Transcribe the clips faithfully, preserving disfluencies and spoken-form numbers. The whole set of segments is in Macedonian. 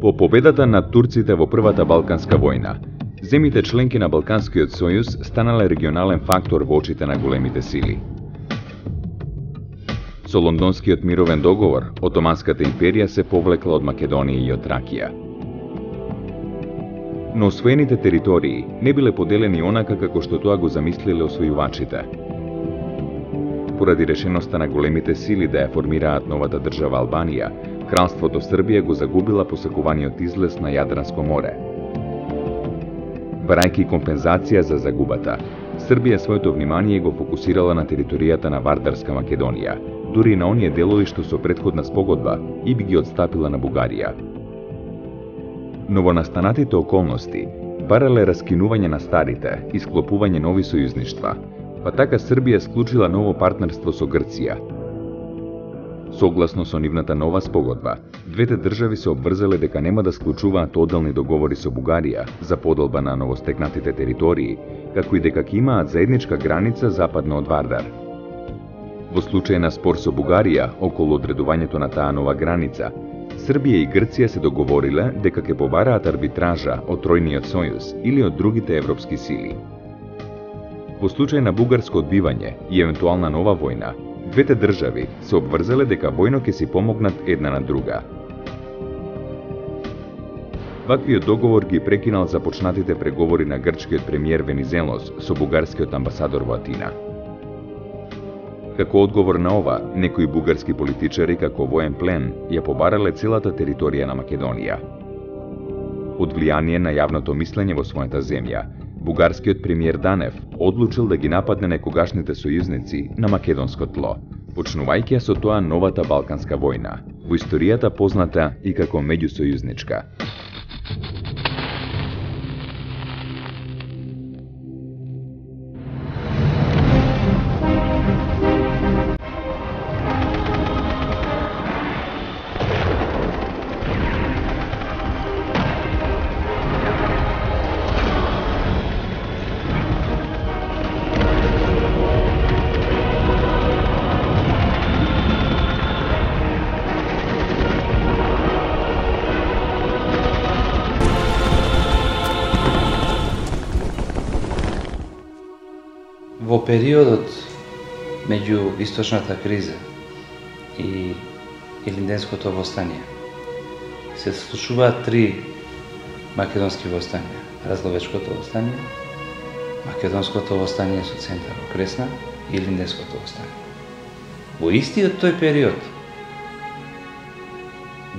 По победата над турците во Првата Балканска војна, земите членки на Балканскиот сојуз станале регионален фактор во очите на големите сили. Со Лондонскиот мировен договор, Отоманската империја се повлекла од Македонија и од Тракија. Но освоените територии не биле поделени онака како што тоа го замислиле освојувачите. Поради решеноста на големите сили да ја формираат новата држава Албанија, Кралството Србија го загубила посакуваниот излез на Јадранско море. Барајќи компензација за загубата, Србија своето внимание го фокусирала на територијата на Вардарска Македонија, дури и на оние делови што со претходна спогодба и би ги отстапила на Бугарија. Новонастанатите околности барале раскинување на старите и склопување нови сојузништва, па така Србија склучила ново партнерство со Грција. Согласно со нивната нова спогодба, двете држави се обврзале дека нема да склучуваат одделни договори со Бугарија за поделба на новостекнатите територии, како и дека ќе имаат заедничка граница западно од Вардар. Во случај на спор со Бугарија околу одредувањето на таа нова граница, Србија и Грција се договориле дека ќе побараат арбитража од Тројниот сојуз или од другите европски сили. Во случај на бугарско одбивање и евентуална нова војна, двете држави се обврзале дека војно ќе си помогнат една на друга. Ваквиот договор ги прекинал започнатите преговори на грчкиот премиер Венизелос со бугарскиот амбасадор во Атина. Како одговор на ова, некои бугарски политичари како воен плен ја побарале целата територија на Македонија. Од влијание на јавното мислење во својата земја, бугарскиот премиер Данев одлучил да ги нападне некогашните сојузници на македонско тло, почнувајќи со тоа новата Балканска војна, во историјата позната и како меѓусојузничка. Во периодот меѓу источната криза и Илинденското востание се случуваат три македонски востанија: Разловечкото востание, Македонското востание со центар во Кресна и Илинденското востание. Во истиот тој период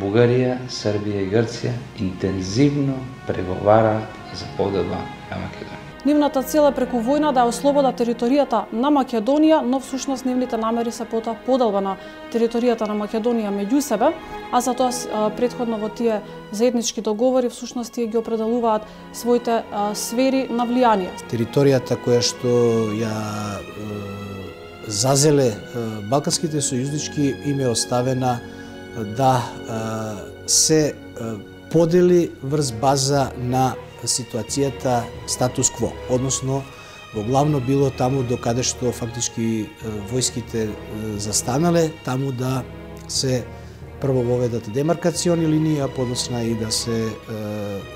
Бугарија, Србија и Грција интензивно преговараат за поделба на Македонија. Нивната цел е преку војна да ја ослобода територијата на Македонија, но всушност нивните намери се потоа поделба на територијата на Македонија меѓу себе, а за тоа претходно во тие заеднички договори всушност тие ги определуваат своите а, сфери на влијание. Територијата која што ја е, зазеле е, балканските сојузнички им е оставена да е, се е, подели врз база на ситуацијата статус кво, односно во главно било таму до каде што фактички војските застанале, таму да се прво воведат демаркациони линии, а подосна и да се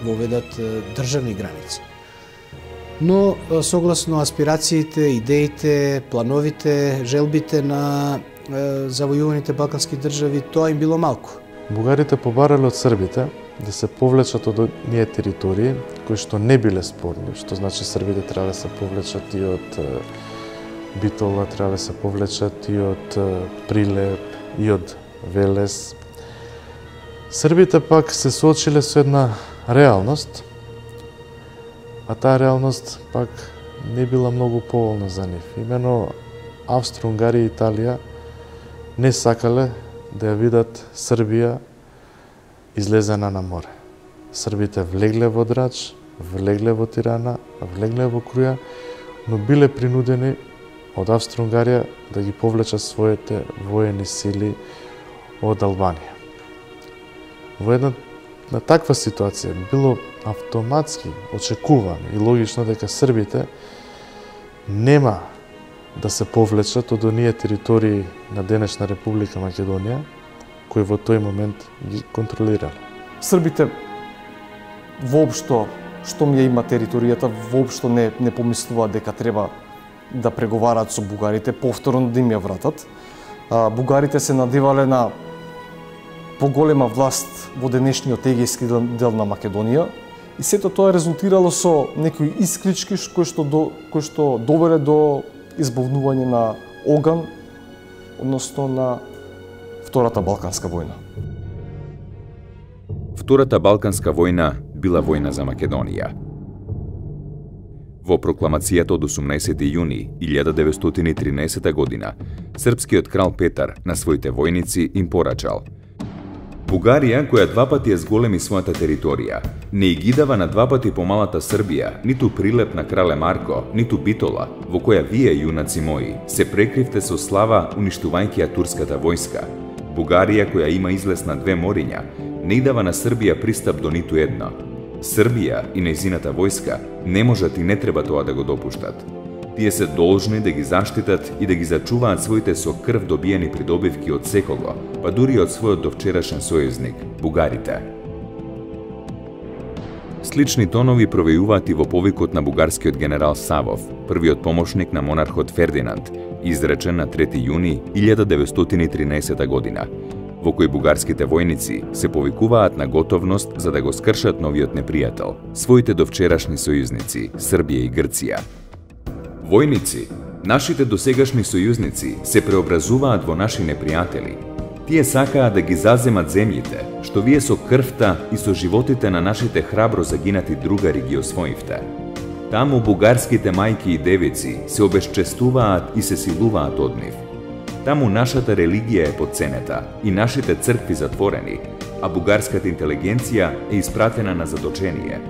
воведат државни граници. Но согласно аспирациите, идеите, плановите, желбите на завојуваните балкански држави, тоа им било малку. Бугарите побарале од србите да се повлечат од оние територии кои што не биле спорни, што значи србите треба да се повлечат и од Битола, треба да се повлечат и од Прилеп, и од Велес. Србите пак се соочиле со една реалност, а таа реалност пак не била многу поволна за нив. Имено Австро-Унгарија и Италија не сакале да ја видат Србија излезена на море. Србите влегле во Драч, влегле во Тирана, влегле во Круја, но биле принудени од Австро-Унгарија да ги повлечат своите воени сили од Албанија. Во една на таква ситуација било автоматски очекувано и логично дека србите нема да се повлечат од оние територии на денешна Република Македонија, кои во тој момент ги контролирале. Србите воопшто, штом ја има територијата, воопшто не, не помислуваат дека треба да преговараат со бугарите, повторно да им ја вратат. А, бугарите се надевале на поголема власт во денешниот егејски дел на Македонија и сето тоа резултирало со некои исклички кои што, до, кои што довеле до избавнување на оган, односно на Втората Балканска војна. Втората Балканска војна била војна за Македонија. Во прокламацијата од осумнаесети јуни илјада деветстотини и тринаесета година, српскиот крал Петар на своите војници им порачал: Бугарија, која два пати ја зголеми својата територија, не и ги дава на два пати помалата Србија, ниту прилеп на крале Марко, ниту Битола, во која вие, јунаци мои, се прекривте со слава уништувајќи ја турската војска. Бугарија, која има излез на две мориња, не и дава на Србија пристап до ниту едно. Србија и нејзината војска не можат и не треба тоа да го допуштат. Тие се должни да ги заштитат и да ги зачуваат своите со крв добиени придобивки од секого, па дури од својот довчерашен сојузник, бугарите. Слични тонови провејуваат и во повикот на бугарскиот генерал Савов, првиот помошник на монархот Фердинанд, изречен на трети јуни илјада деветстотини и тринаесета година, во кој бугарските војници се повикуваат на готовност за да го скршат новиот непријател, своите довчерашни сојузници, Србија и Грција. Војници, нашите досегашни сојузници се преобразуваат во наши непријатели. Тие сакаат да ги заземат земјите, што вие со крвта и со животите на нашите храбро загинати другари ги освоивте. Таму бугарските мајки и девици се обесчестуваат и се силуваат од нив. Таму нашата религија е подценета и нашите цркви затворени, а бугарската интелигенција е испратена на заточение.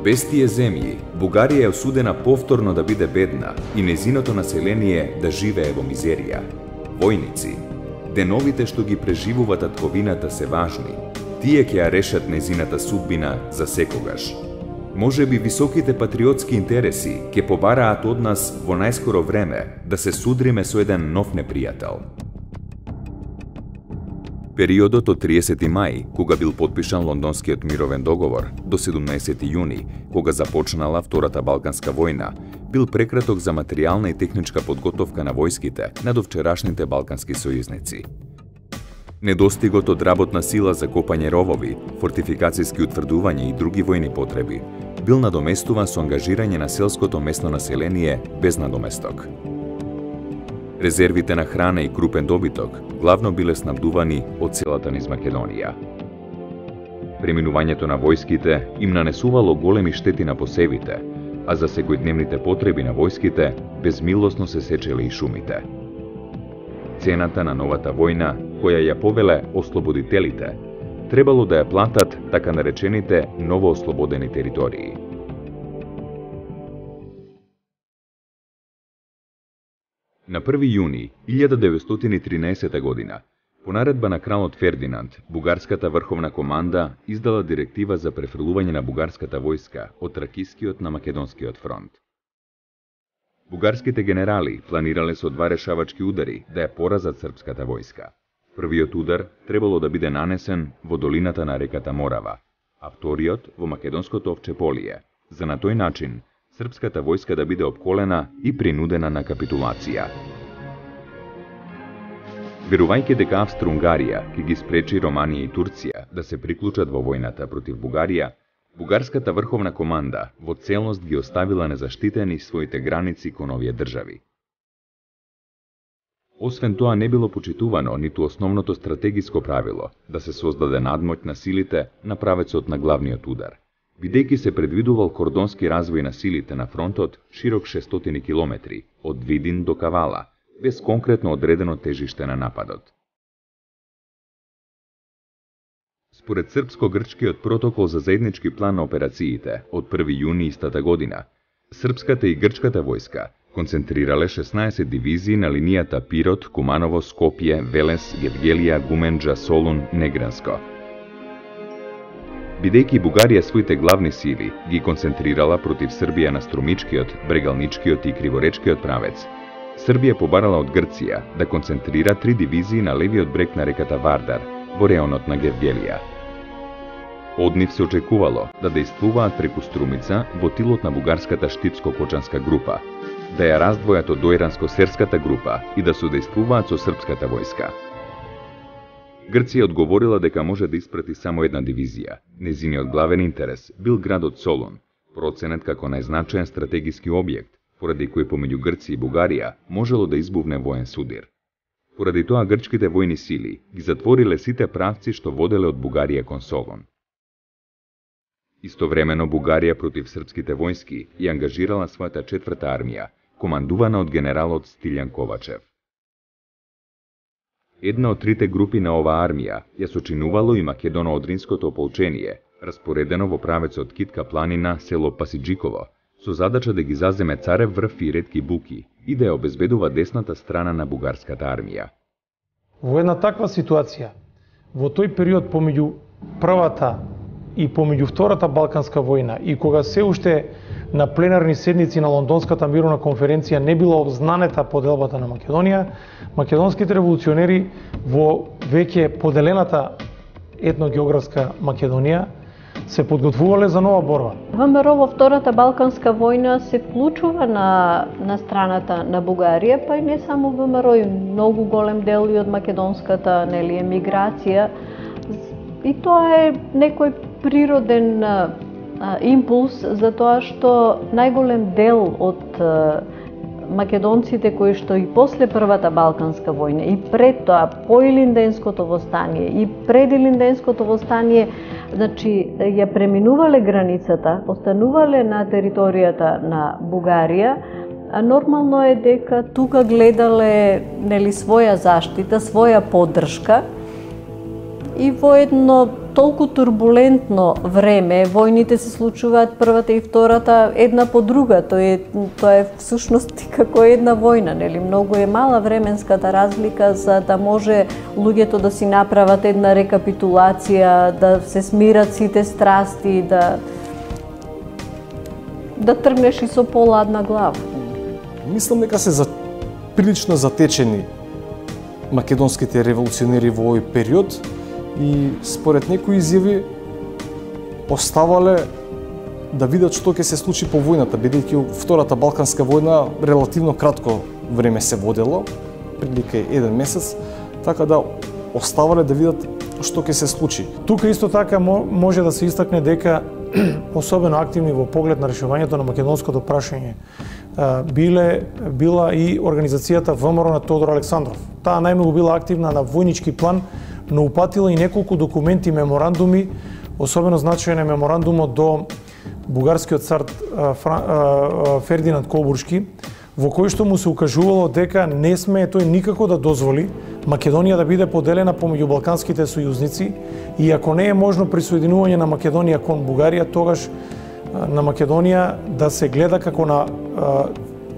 Без тие земји, Бугарија е осудена повторно да биде бедна и незиното население да живее во мизерија. Војници, деновите што ги преживува татковината се важни. Тие ќе ја решат незината судбина за секогаш. Може би високите патриотски интереси ќе побараат од нас во најскоро време да се судриме со еден нов непријател. Периодот од триесети мај, кога бил подпишан Лондонскиот мировен договор, до седумнаесети јуни, кога започнала Втората Балканска војна, бил прекраток за материјална и техничка подготовка на војските на довчерашните балкански сојузници. Недостигот од работна сила за копање ровови, фортификацијски утврдувања и други војни потреби бил надоместуван со ангажирање на селското местно население без надоместок. Резервите на храна и крупен добиток главно биле снабдувани од целата низ Македонија. Преминувањето на војските им нанесувало големи штети на посевите, а за секојдневните потреби на војските безмилосно се сечеле и шумите. Цената на новата војна, која ја повеле ослободителите, требало да ја платат така наречените новоослободени територии. На први јуни илјада деветстотини и тринаесета година, по наредба на кралот Фердинанд, бугарската врховна команда издала директива за префрлување на бугарската војска од Тракискиот на Македонскиот фронт. Бугарските генерали планирале со два решавачки удари да ја поразат српската војска. Првиот удар требало да биде нанесен во долината на реката Морава, а вториот во македонското Овчеполие, за на тој начин српската војска да биде опколена и принудена на капитулација. Верувајќи дека Австро-Унгарија ќе ги спречи Романија и Турција да се приклучат во војната против Бугарија, бугарската врховна команда во целност ги оставила незаштитени своите граници кон овие држави. Освен тоа не било почитувано ниту основното стратегиско правило да се создаде надмоќ на силите на правецот на главниот удар, бидејќи се предвидувал кордонски развој на силите на фронтот широк шестстотини километри, од Видин до Кавала, без конкретно одредено тежиште на нападот. Според српско-грчкиот протокол за заеднички план на операциите од први јуни истата година, српската и грчката војска концентрирале шеснаесет дивизии на линијата Пирот, Куманово, Скопје, Велес, Гевгелија, Гуменџа, Солун, Негранско. Бидејќи Бугарија своите главни сили ги концентрирала против Србија на Струмичкиот, Брегалничкиот и Криворечкиот правец, Србија побарала од Грција да концентрира три дивизии на левиот брег на реката Вардар, во реонот на Гевгелија. Од нив се очекувало да дејствуваат преку Струмица во тилот на бугарската штипско-кочанска група, да ја раздвојат од доиранско-серската група и да судејствуваат со српската војска. Грција одговорила дека може да испрати само една дивизија. Незиниот главен интерес бил градот Солун, проценет како најзначаен стратегиски објект, поради кој помеѓу Грција и Бугарија можело да избувне воен судир. Поради тоа грчките војни сили ги затвориле сите правци што воделе од Бугарија кон Солун. Истовремено Бугарија против српските војски и ангажирала својата четврта армија, командувана од генералот Стилјан Ковачев. Една од трите групи на оваа армија ја сочинувало и Македоно-Одринското ополчение, распоредено во правецот Китка планина, село Пасиџиково, со задача да ги заземе Царев врв и ретки буки и да ја обезбедува десната страна на бугарската армија. Во една таква ситуација, во тој период помеѓу првата и помеѓу втората Балканска војна и кога се уште на пленарни седници на Лондонската мировна конференција не била обзнанета поделбата на Македонија, македонските револуционери во веќе поделената етногеографска Македонија се подготвувале за нова борба. ВМРО во Втората Балканска војна се вклучува на, на страната на Бугарија, па и не само ВМРО, и многу голем дел и од македонската нели, емиграција. И тоа е некој природен а, импулс за тоа што најголем дел од а, македонците кои што и после Првата Балканска војна и пред тоа по Илинденското востание и пред Илинденското востание, значи ја преминувале границата, останувале на територијата на Бугарија, а нормално е дека тука гледале нели своја заштита, своја поддршка и во едно толку турбулентно време, војните се случуваат првата и втората една по друга, тоа е, тоа е всушност како една војна, нели? Многу е мала временската разлика за да може луѓето да си направат една рекапитулација, да се смират сите страсти, да да тргнеш и со поладна глава. Мислам дека се за прилично затечени македонските револуционери во овој период и според некои изјави оставале да видат што ќе се случи по војната, бидејќи Втората Балканска војна релативно кратко време се водело, прилike еден месец, така да оставале да видат што ќе се случи. Тука исто така може да се истакне дека особено активни во поглед на решувањето на македонското прашање биле била и организацијата ВМРО на Тодор Александров. Таа најмногу била активна на војнички план, но упатила и неколку документи, меморандуми, особено значаен е меморандумот до бугарскиот цар Фердинанд Кобуршки, во кој што му се укажувало дека не смее тој никако да дозволи Македонија да биде поделена помеѓу балканските сојузници и ако не е можно присоединување на Македонија кон Бугарија, тогаш на Македонија да се гледа како на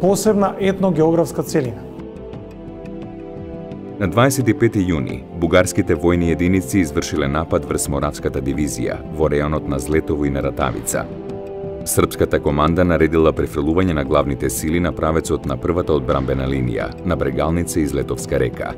посебна етногеографска целина. На дваесет и пети јуни, бугарските војни единици извршиле напад врз Моравската дивизија во реонот на Злетово и на Ратавица. Српската команда наредила префрлување на главните сили на правецот на првата одбрамбена линија, на Брегалница и Злетовска река.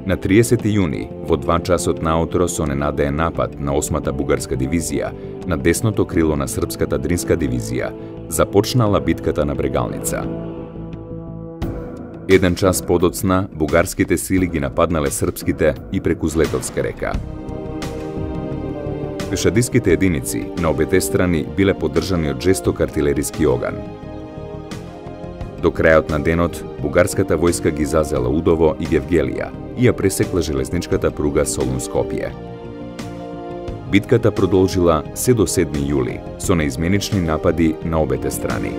На триесети јуни, во два часот наутро со ненадеен напад на осмата бугарска дивизија, на десното крило на српската Дринска дивизија, започнала битката на Брегалница. Еден час подоцна, бугарските сили ги нападнале српските и преку Злетовска река. Пешадиските единици на обете страни биле поддржани од жесток артилериски оган. До крајот на денот, бугарската војска ги зазела Удово и Гевгелија и ја пресекла железничката пруга Солун-Скопје. Битката продолжила се до седми јули со неизменични напади на обете страни.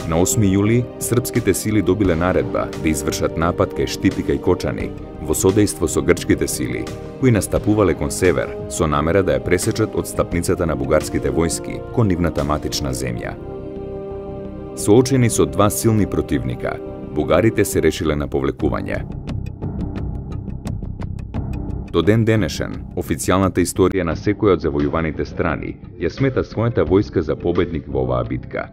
На осми јули, српските сили добиле наредба да извршат напад кај Штипика и Кочани во содејство со грчките сили, кои настапувале кон север со намера да ја пресечат од стапницата на бугарските војски кон нивната матична земја. Соочени со два силни противника, бугарите се решиле на повлекување. До ден денешен, официјалната историја на секоја од завојуваните страни ја смета својата војска за победник во оваа битка.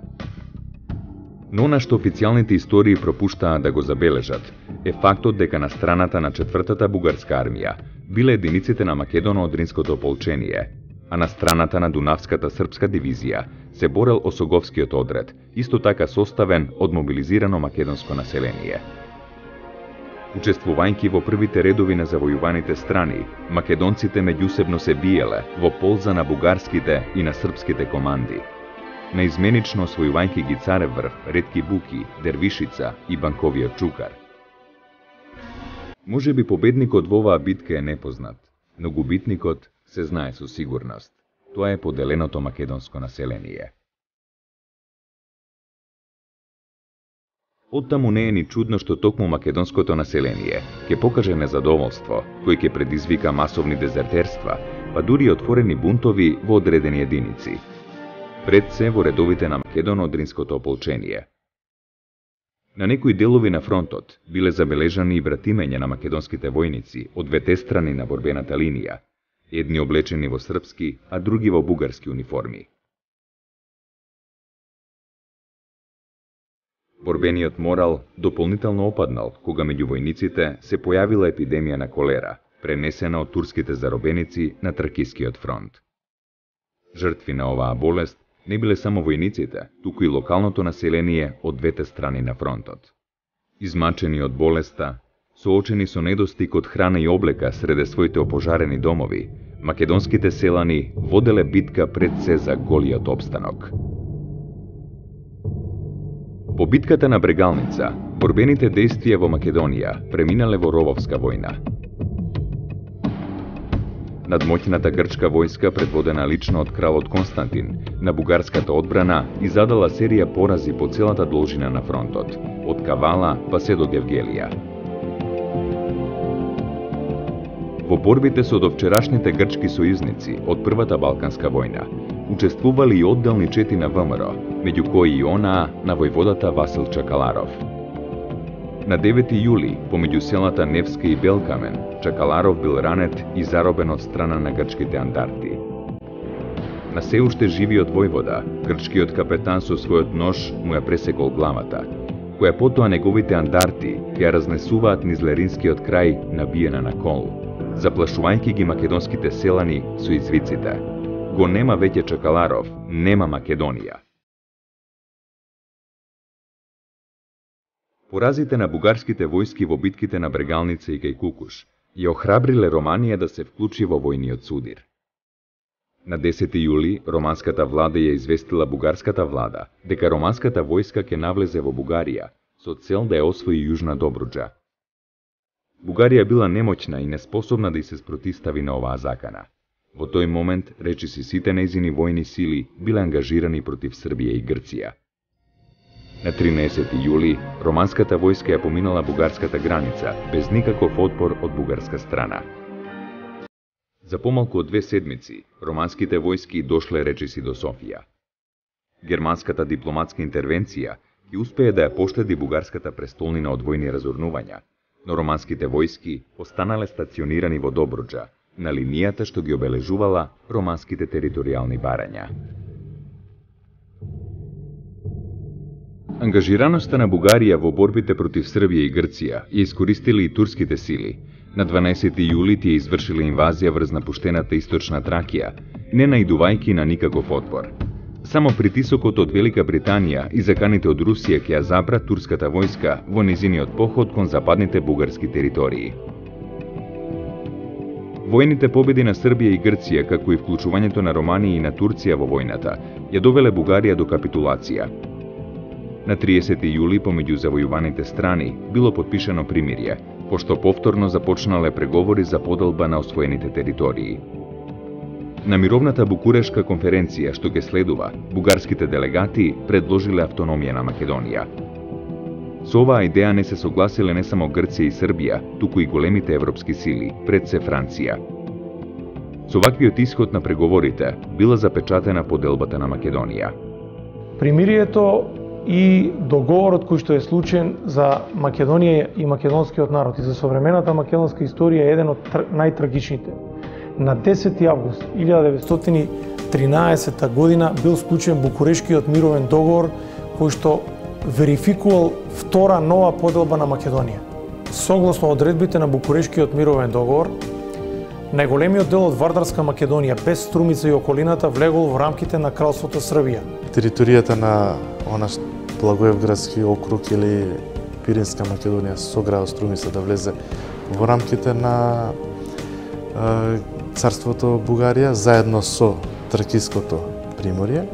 Но она што официјалните истории пропуштаа да го забележат е фактот дека на страната на четвртата бугарска армија биле единиците на Македоно-Одринското ополчение, а на страната на Дунавската српска дивизија се борел Осоговскиот одред, исто така составен од мобилизирано македонско население. Учествувајќи во првите редови на завојуваните страни, македонците меѓусебно се биеле во полза на бугарските и на српските команди. Наизменично освојувајќи ги Царев врв, Ретки буки, Дервишица и Банковиот чукар. Може би победникот во оваа битка е непознат, но губитникот се знае со сигурност. Тоа е поделеното македонско население. Оттаму не е ни чудно што токму македонското население ќе покаже незадоволство, кој ќе предизвика масовни дезертерства, па дури отворени бунтови во одредени единици. Пред се во редовите на Македоно-Одринското ополчение. На некои делови на фронтот биле забележани и вратимења на македонските војници од двете страни на борбената линија, едни облечени во српски, а други во бугарски униформи. Борбениот морал дополнително опаднал кога меѓу војниците се појавила епидемија на колера, пренесена од турските заробеници на Тракискиот фронт. Жртви на оваа болест не биле само војниците, туку и локалното население од двете страни на фронтот. Измачени од болеста, соочени со недостиг од храна и облека среде своите опожарени домови, македонските селани воделе битка пред се за голиот опстанок. По битката на Брегалница, борбените действија во Македонија преминале во рововска војна. Надмоќната грчка војска, предводена лично од кралот Константин, на бугарската одбрана изадала серија порази по целата должина на фронтот, од Кавала па се до Гевгелија. Во борбите со довчерашните грчки сојузници од Првата Балканска војна учествували и одделни чети на ВМРО, меѓу кои и онаа на војводата Васил Чакаларов. На девети јули, помеѓу селата Невска и Белкамен, Чакаларов бил ранет и заробен од страна на грчките андарти. На се уште живиот војвода, грчкиот капетан со својот нож му ја пресекол главата, која потоа неговите андарти ја разнесуваат низ Леринскиот крај набиена на кол, заплашувајќи ги македонските селани со извиците: "Го нема веќе Чакаларов, нема Македонија." Поразите на бугарските војски во битките на Брегалница и Кај Кукуш ја охрабриле Романија да се вклучи во војниот судир. На десети јули романската влада ја известила бугарската влада дека романската војска ќе навлезе во Бугарија со цел да ја освои Јужна Добруџа. Бугарија била немоќна и неспособна да ѝ се спротистави на оваа закана. Во тој момент, речиси сите нејзини војни сили биле ангажирани против Србија и Грција. На тринаесети јули, романската војска ја поминала бугарската граница, без никаков отпор од бугарска страна. За помалку од две седмици, романските војски дошле речиси до Софија. Германската дипломатска интервенција ќе успее да ја поштеди бугарската престолнина од војни разорнувања, но романските војски останале стационирани во Добруџа, на линијата што ги обележувала романските територијални барања. Ангажираноста на Бугарија во борбите против Србија и Грција ја искористили и турските сили. На дванаесети јули тие извршиле инвазија врз напуштената источна Тракија, не наидувајќи на никаков отпор. Само притисокот од Велика Британија и заканите од Русија ќе ја забра турската војска во низиниот поход кон западните бугарски територии. Војните победи на Србија и Грција, како и вклучувањето на Романија и на Турција во војната, ја довеле Бугарија до капитулација. На триесети јули помеѓу завојуваните страни било потпишано примирје, пошто повторно започнале преговори за поделба на освоените територии. На мировната Букурешка конференција што ќе следува, бугарските делегати предложиле автономија на Македонија. Со оваа идеја не се согласиле не само Грција и Србија, туку и големите европски сили, пред се Франција. Со ваквиот исход на преговорите била запечатена поделбата на Македонија. Примирието и договорот кој што е случен за Македонија и македонскиот народ и за современата македонска историја е еден од најтрагичните. На десети август илјада деветстотини и тринаесета година бил склучен Букурешкиот мировен договор кој што верификувал втора нова поделба на Македонија. Согласно одредбите на Букурешкиот мировен договор, најголемиот дел од Вардарска Македонија без Струмица и околината влегол во рамките на Кралството Србија. Територијата на онаш Благоевградски округ или Пиринска Македонија со градот Струмица да влезе во рамките на е, царството Бугарија заедно со Тракиското приморје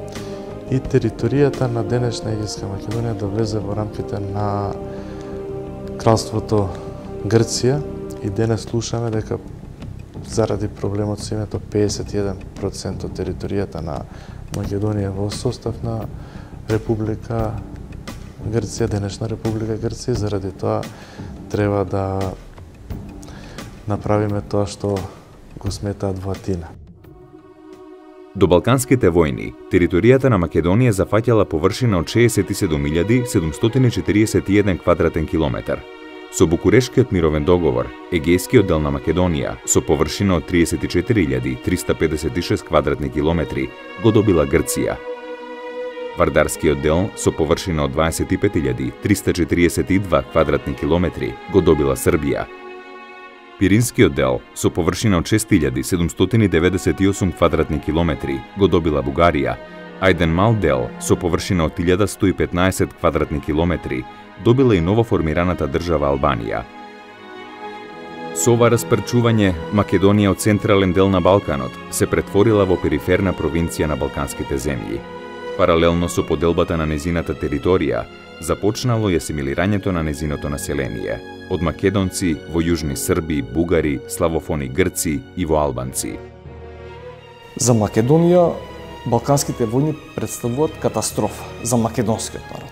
и територијата на денешна Егејска Македонија да влезе во рамките на Кралството Грција и денес слушаме дека заради проблемот со името педесет и еден проценти од територијата на Македонија во состав на Република Грција, денешна Република Грција, заради тоа треба да направиме тоа што го сметаат во Атина. До Балканските војни, територијата на Македонија зафаќала површина од шеесет и седум илјади седумстотини и четириесет и еден квадратен километар. Со Букурешкиот мировен договор, Егејскиот дел на Македонија со површина од триесет и четири илјади триста педесет и шест квадратни километри го добила Грција. Вардарскиот дел со површина од дваесет и пет илјади триста четириесет и два квадратни километри го добила Србија. Пиринскиот дел со површина од шест илјади седумстотини деветдесет и осум квадратни километри го добила Бугарија, а еден мал дел со површина од илјада сто и петнаесет квадратни километри добила и новоформираната држава Албанија. Со ова распрчување, Македонија од централен дел на Балканот се претворила во периферна провинција на балканските земји. Паралелно со поделбата на незината територија, започнало и асимилирањето на незиното население, од македонци во јужни Срби, бугари, славофони грци и во албанци. За Македонија, Балканските војни представуваат катастрофа за македонскиот народ.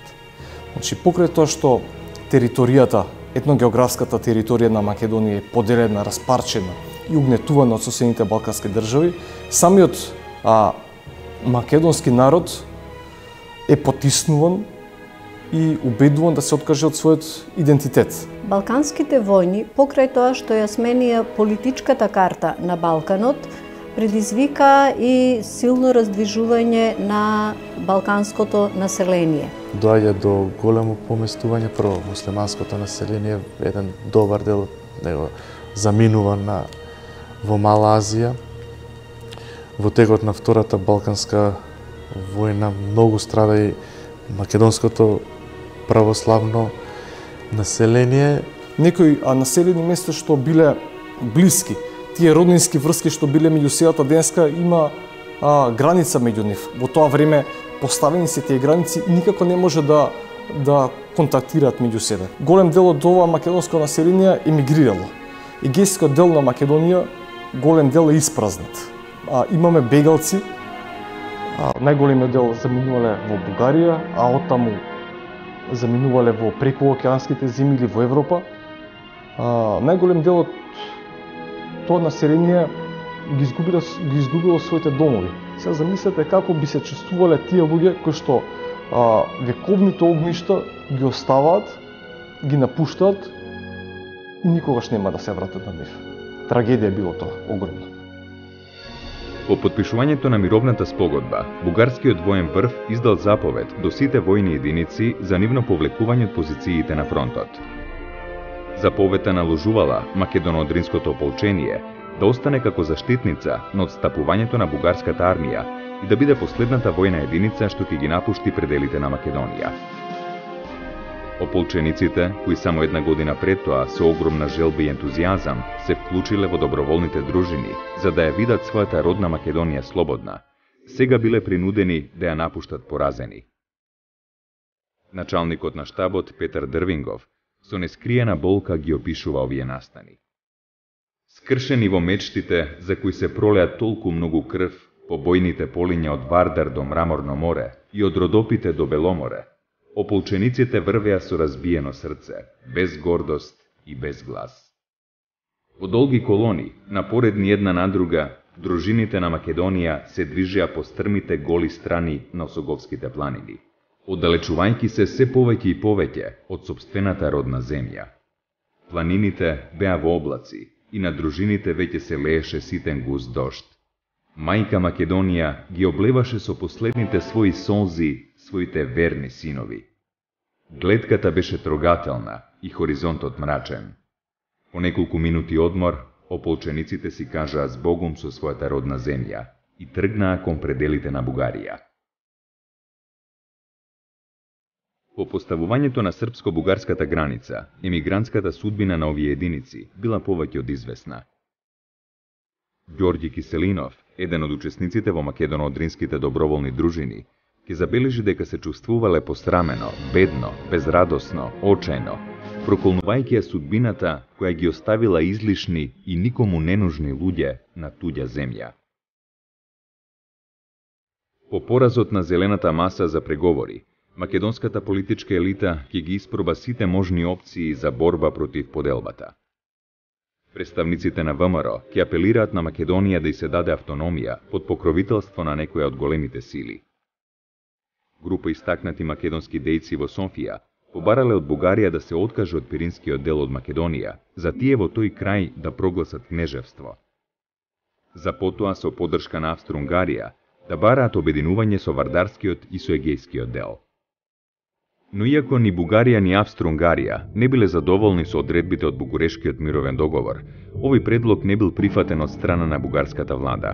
Значи, покрај тоа што територијата, етногеографската територија на Македонија е поделена, распарчена и угнетувана од соседните балкански држави, самиот а, македонски народ е потиснуван и убедуван да се откаже од својот идентитет. Балканските војни, покрај тоа што ја сменија политичката карта на Балканот, предизвика и силно раздвижување на балканското население. Доаѓа до големо поместување, прво муслиманското население, еден добар дел од него заминува на во Мала Азија. Во текот на Втората Балканска војна многу страда и македонското православно население. Некои а, населени места што биле блиски, тие роднински врски што биле меѓу селата денеска, има а, граница меѓу нив. Во тоа време поставени се тие граници и никако не може да да контактираат меѓу себе. Голем дел од ова македонско население емигрирало. Егејскиот дел на Македонија голем дел е испразнат. А, имаме бегалци, а, најголемиот дел заминувале во Бугарија, а оттаму заминувале во прекуокеанските земји или во Европа. А, најголем дел од тоа население ги изгубило, ги изгубило своите домови. Сега замислете како би се чувствувале тие луѓе кои што а, вековните огништа ги оставаат, ги напуштаат и никогаш нема да се вратат на нив. Трагедија било тоа, огромна. По подпишувањето на мировната спогодба, бугарскиот воен врв издал заповед до сите војни единици за нивно повлекување од позициите на фронтот. Заповедта наложувала македоно-одринското ополчение да остане како заштитница на отстапувањето на бугарската армија и да биде последната војна единица што ќе ги напушти пределите на Македонија. Ополчениците, кои само една година пред тоа со огромна желба и ентузијазам се вклучиле во доброволните дружини за да ја видат својата родна Македонија слободна, сега биле принудени да ја напуштат поразени. Началникот на штабот Петар Дрвингов со нескриена болка ги опишува овие настани. Скршени во мечтите за кои се пролеа толку многу крв по бојните полиња од Вардар до Мраморно море и од Родопите до Беломоре, ополчениците врвеа со разбиено срце, без гордост и без глас. Во долги колони, напоредни една на друга, дружините на Македонија се движеа по стрмите голи страни на Осоговските планини, оддалечувајќи се се повеќе и повеќе од сопствената родна земја. Планините беа во облаци и на дружините веќе се лееше ситен густ дожд. Мајка Македонија ги облеваше со последните своји солзи своите верни синови. Гледката беше трогателна и хоризонтот мрачен. По неколку минути одмор, ополчениците си кажаа збогум со својата родна земја и тргнаа кон пределите на Бугарија. По поставувањето на српско-бугарската граница, емигрантската судбина на овие единици била повеќе од известна. Ѓорѓи Киселинов, еден од учесниците во македоно-одринските доброволни дружини, ќе забележи дека се чувствувале посрамено, бедно, безрадосно, очајно, проколнувајќи ја судбината која ги оставила излишни и никому ненужни луѓе на туѓа земја. По поразот на зелената маса за преговори, македонската политичка елита ќе ги испроба сите можни опции за борба против поделбата. Представниците на ВМРО ќе апелираат на Македонија да й се даде автономија под покровителство на некоја од големите сили. Група истакнати македонски дејци во Софија побарале од Бугарија да се откаже од Пиринскиот дел од Македонија, за тие во тој крај да прогласат кнежевство. За потоа со поддршка на Австро-Унгарија да бараат обединување со Вардарскиот и со Егејскиот дел. Но иако ни Бугарија ни Австро-Унгарија не биле задоволни со одредбите од Бугурешкиот мировен договор, овој предлог не бил прифатен од страна на бугарската влада.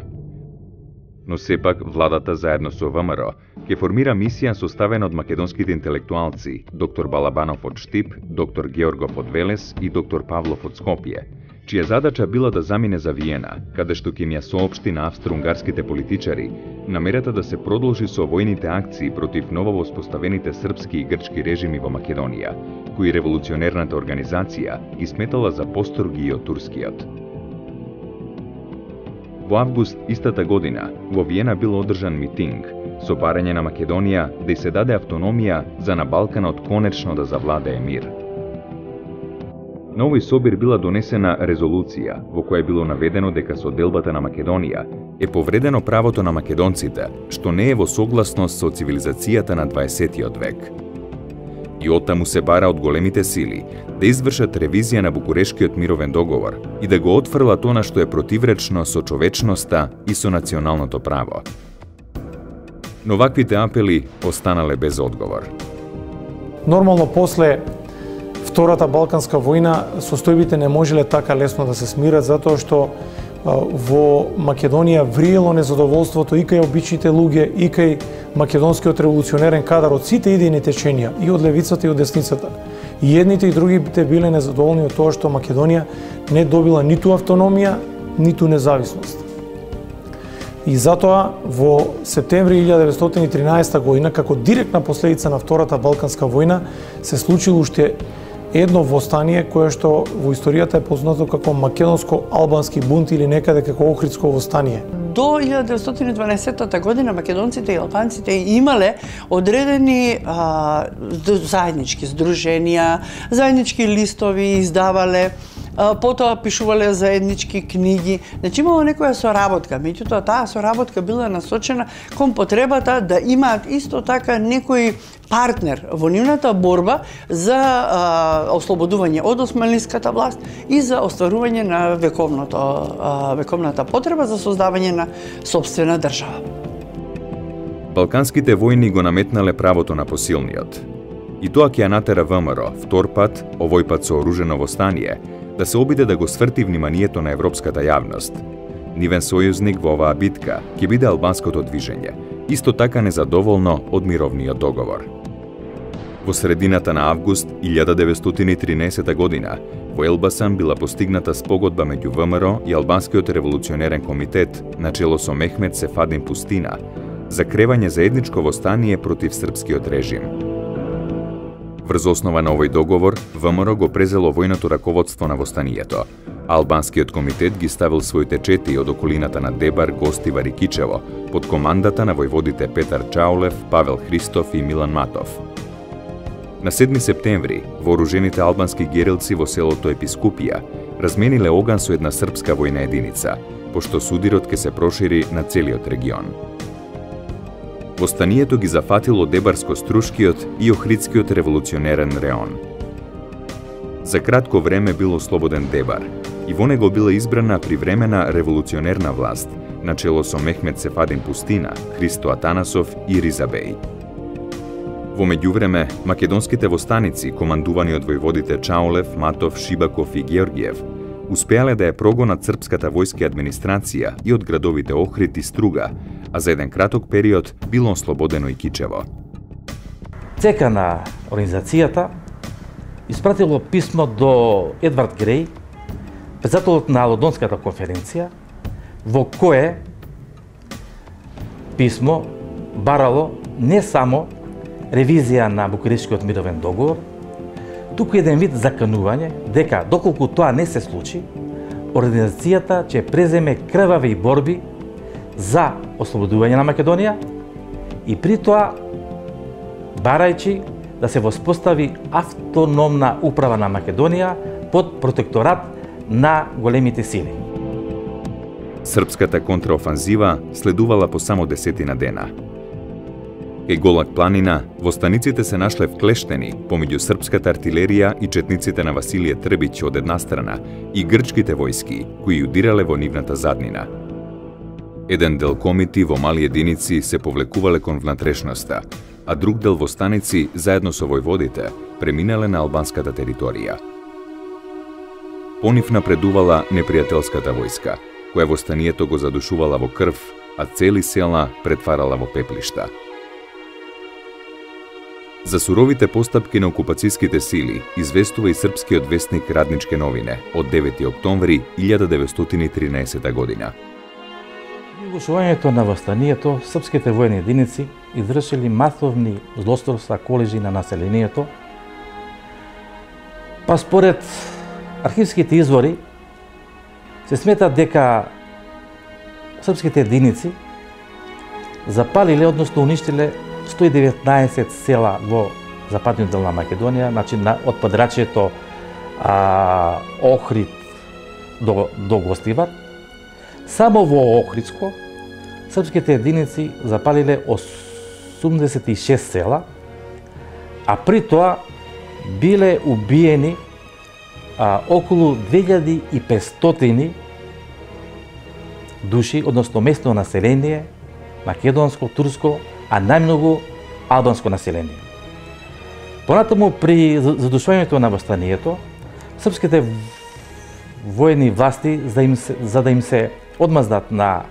Но сепак владата заедно со ВМРО ќе формира мисија составена од македонските интелектуалци доктор Балабанов од Штип, доктор Георгов од Велес и доктор Павлов од Скопје, чија задача била да замине за Виена, каде што ќе им ја соопшти на австро-унгарските политичари намерата да се продолжи со војните акции против нововоспоставените српски и грчки режими во Македонија, кои револуционерната организација ги сметала за построги од турскиот. Во август истата година во Виена бил одржан митинг со барање на Македонија да й се даде автономија за на Балканот конечно да завладее мир. На овој собир била донесена резолуција во која било наведено дека со делбата на Македонија е повредено правото на македонците, што не е во согласност со цивилизацијата на дваесеттиот век. И оттаму се бара од големите сили да извршат ревизија на Букурешкиот мировен договор и да го отфрлат она што е противречно со човечноста и со националното право. Но ваквите апели останале без одговор. Нормално после Втората Балканска војна состојбите не можеле така лесно да се смират, затоа што во Македонија вриело незадоволството и кај обичните луѓе, и кај македонскиот револуционерен кадар од сите идејни теченија, и од левицата и од десницата. И едните и другите биле незадоволни од тоа што Македонија не добила ниту автономија, ниту независност. И затоа во септември илјадесетстотини и тринаесета година, како директна последица на Втората Балканска војна, се случило уште едно востание кое што во историјата е познато како македонско-албански бунт или некаде како Охридско востание. До илјада деветстотини и дванаесеттата година македонците и албанците имале одредени а, заеднички здруженија, заеднички листови издавале, потоа пишувале заеднички книги. Значи имало некоја соработка, меѓутоа таа соработка била насочена кон потребата да имаат исто така некој партнер во нивната борба за а, ослободување од османлиската власт и за остварување на вековното, а, вековната потреба за создавање на сопствена држава. Балканските војни го наметнале правото на посилниот. И тоа ќе ја натера ВМРО втор пат, овој пат со оружено востание, да се обиде да го сврти вниманието на европската јавност. Нивен сојузник во оваа битка ќе биде албанското движење, исто така незадоволно од мировниот договор. Во средината на август илјада деветстотини и тринаесета година во Елбасан била постигната спогодба меѓу ВМРО и Албанскиот револуционерен комитет на чело со Мехмет Сефадин Пустина за кревање заедничко востание против српскиот режим. Врз основа на овој договор, ВМРО го презело војното раководство на востанието, а Албанскиот комитет ги ставил своите чети од околината на Дебар, Гостивар и Кичево под командата на војводите Петар Чаулев, Павел Христов и Милан Матов. На седми септември, вооружените албански герилци во селото Епискупија размениле оган со една српска војна единица, пошто судирот ке се прошири на целиот регион. Востанието ги зафатило Дебарско-Струшкиот и Охридскиот револуционерен реон. За кратко време бил ослободен Дебар и во него била избрана привремена револуционерна власт начело со Мехмет Сефадин Пустина, Христо Атанасов и Риза Беј. Во меѓувреме, македонските востаници, командувани од војводите Чаолев, Матов, Шибаков и Георгиев, успеале да ја прогонат српската војска и администрација и од градовите Охрид и Струга, а за еден краток период било ослободено и Кичево. ЦК на организацијата испратило писмо до Едвард Греј, председателот на Лондонската конференција, во кое писмо барало не само ревизија на Букурештскиот мировен договор, туку еден вид заканување дека доколку тоа не се случи, организацијата ќе преземе крвави борби за ослободување на Македонија и при тоа барајќи да се воспостави автономна управа на Македонија под протекторат на големите сили. Српската контраофанзива следувала по само десетина дена. Кај Голак планина, востаниците се нашле вклештени помеѓу српската артилерија и четниците на Василije Трбиќ од една страна и грчките војски, кои удирале во нивната заднина. Еден дел комити во мали единици се повлекувале кон внатрешноста, а друг дел востаници, заедно со војводите, преминале на албанската територија. По нив напредувала непријателската војска, која востанието го задушувала во крв, а цели села претварала во пеплишта. За суровите постапки на окупацијските сили известува и српскиот весник Радничке новине од девети октомври илјада деветстотини и тринаесета година. При угушувањето на востанието, српските војни единици извршили масовни злосторства колежи на населението, па според архивските извори се смета дека српските единици запалиле, односно уништиле сто и деветнаесет села во западниот дел на Македонија, значи на, од подрачјето а, Охрид до, до Гостивар. Само во Охридско српските единици запалиле осумдесет и шест села, а при тоа биле убиени а, околу две илјади и петстотини души, односно местно население, македонско, турско, а најмногу албанско население. Понатаму при задушувањето на востанието, српските војни власти за, им се, за да им се одмаздат на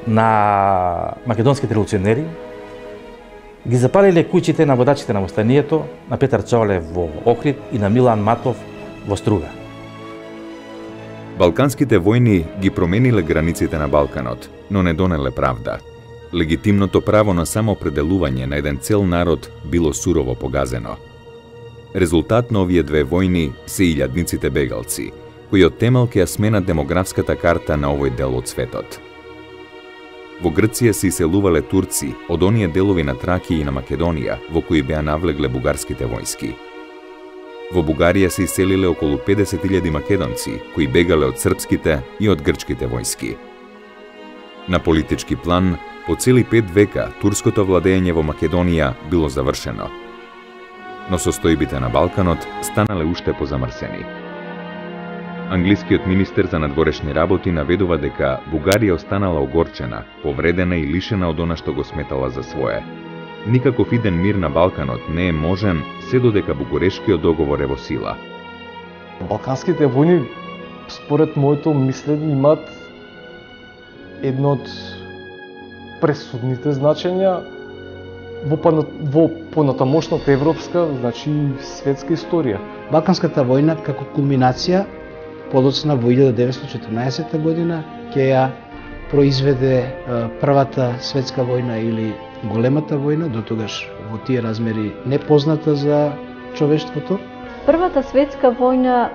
на македонските револуционери, ги запалиле куќите на водачите на востанието, на Петар Чаолев во Охрид и на Милан Матов во Струга. Балканските војни ги промениле границите на Балканот, но не донеле правда. Легитимното право на самоопределување на еден цел народ било сурово погазено. Резултат на овие две војни се илјадниците бегалци, кои од темел ќе ја сменат демографската карта на овој дел од светот. Во Грција се иселувале турци од оние делови на Тракија и на Македонија во кои беа навлегле бугарските војски. Во Бугарија се иселиле околу педесет илјади македонци кои бегале од српските и од грчките војски. На политички план, по цели пет века турското владење во Македонија било завршено, но состојбите на Балканот станале уште позамрсени. Англискиот министер за надворешни работи наведува дека Бугарија останала огорчена, повредена и лишена од она што го сметала за свое. Никаков иден мир на Балканот не е можен се додека Букурешкиот договор е во сила. Балканските војни, според моето мислење, имаат едно од пресудните значења во, во понатамошната европска, значи светска историја. Балканската војна како кулминација подоцна во илјада деветстотини и четрнаесета година ќе ја произведе првата светска војна или големата војна, до тогаш во тие размери непозната за човештвото. Првата светска војна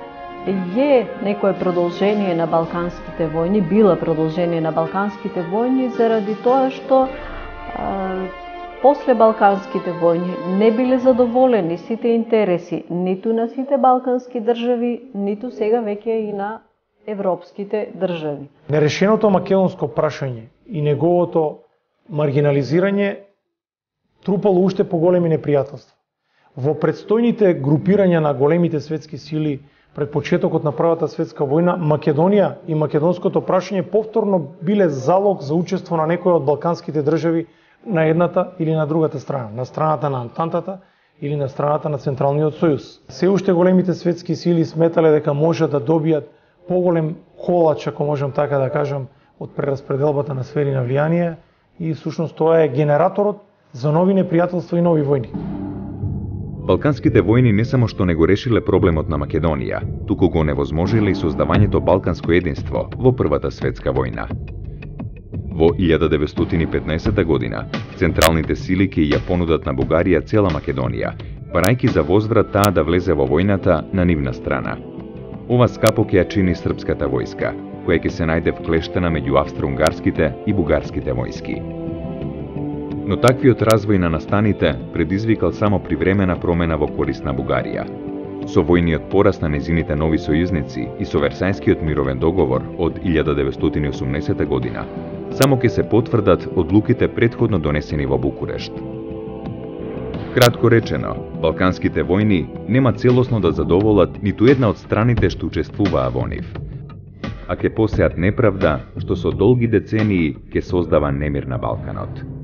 е некое продолжение на балканските војни, била продолжение на балканските војни заради тоа што а, после балканските војни не биле задоволени сите интереси ниту на сите балкански држави, ниту сега веќе и на европските држави. Нерешеното македонско прашање и неговото маргинализирање трупало уште поголеми непријателства. Во предстојните групирања на големите светски сили пред почетокот на Првата светска војна, Македонија и македонското прашање повторно биле залог за учество на некои од балканските држави на едната или на другата страна, на страната на Антантата или на страната на Централниот сојуз. Се уште големите светски сили сметале дека можат да добијат поголем колач, ако можам така да кажам, од прераспределбата на сфери на влијание и всушност тоа е генераторот за нови непријателства и нови војни. Балканските војни не само што не го решиле проблемот на Македонија, туку го невозможиле и создавањето балканско единство во Првата светска војна. Во илјада деветстотини и петнаесета година, централните сили ќе ја понудат на Бугарија цела Македонија, барајќи за возврат таа да влезе во војната на нивна страна. Ова скапо ќе ја чини српската војска, која ќе се најде вклештена меѓу австро-унгарските и бугарските војски. Но таквиот развој на настаните предизвикал само привремена промена во корист на Бугарија. Со војниот пораст на незините нови сојузници и со Версајскиот мировен договор од илјада деветстотини и осумдесета година, само ќе се потврдат одлуките претходно донесени во Букурешт. Кратко речено, балканските војни нема целосно да задоволат ниту една од страните што учествуваа во нив, а ќе посеат неправда што со долги децении ќе создава немир на Балканот.